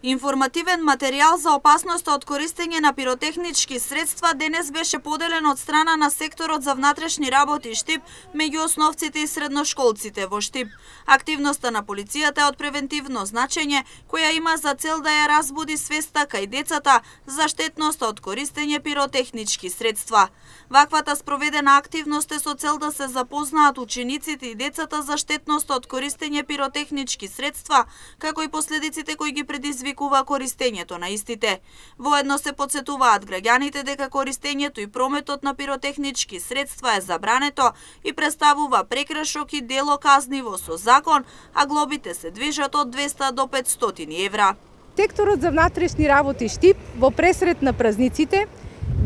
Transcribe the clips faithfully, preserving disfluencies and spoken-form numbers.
Информативен материјал за опасноста од користење на пиротехнички средства денес беше поделен од страна на секторот за внатрешни работи Штип меѓу основците и средношколците во Штип. Активноста на полицијата е од превентивно значење, која има за цел да ја разбуди свеста кај децата за штетноста од користење пиротехнички средства. Ваквата спроведена активност е со цел да се запознаат учениците и децата за штетноста од користење пиротехнички средства, како и последиците кои ги предизвикува користењето на истите. Воедно се потсетуваат граѓаните дека користењето и прометот на пиротехнички средства е забрането и представува прекршок и дело казниво со закон, а глобите се движат од двеста до петстотини евра. Секторот за внатрешни работи Штип во пресред на празниците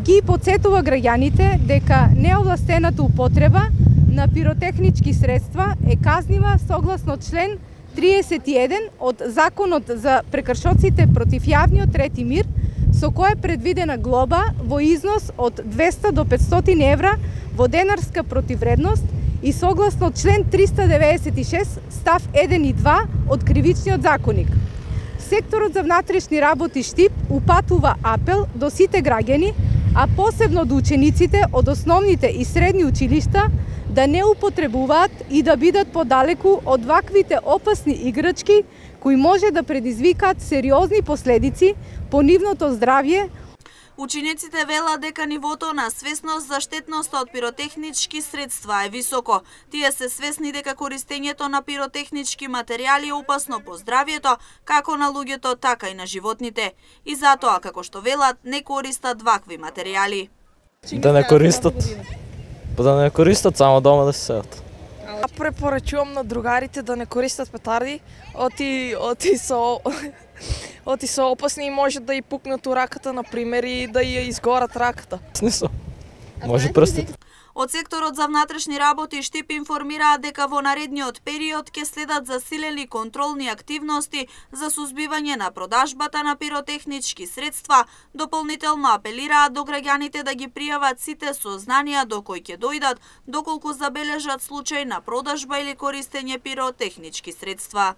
ги потсетува граѓаните дека неовластената употреба на пиротехнички средства е казнива согласно член триесет и еден од Законот за прекршоците против јавниот ред и мир, со која е предвидена глоба во износ од двеста до петстотини евра во денарска противредност и согласно член триста деветдесет и шест став еден и два од Кривичниот законник. Секторот за внатрешни работи Штип упатува апел до сите граѓани, а посебно до учениците од основните и средни училишта, да не употребуваат и да бидат подалеку од ваквите опасни играчки кои може да предизвикаат сериозни последици по нивното здравје. Учениците велат дека нивото на свесност за штетноста од пиротехнички средства е високо. Тие се свесни дека користењето на пиротехнички материјали е опасно по здравјето, како на луѓето, така и на животните. И затоа, како што велат, не користат вакви материјали. Да не користат. Да не користат, само дома да се седат. Препорачувам на другарите да не користат петарди, оти, оти со... Оти се опасни и може да и пукнат у раката, например, и да ја изгорат раката. Смисъл. Може прстите. Од секторот за внатрешни работи Штип информираат дека во наредниот период ќе следат засилени контролни активности за сузбивање на продажбата на пиротехнички средства. Дополнително апелираат до граѓаните да ги пријават сите сознанија до кои ќе дојдат доколку забележат случај на продажба или користење пиротехнички средства.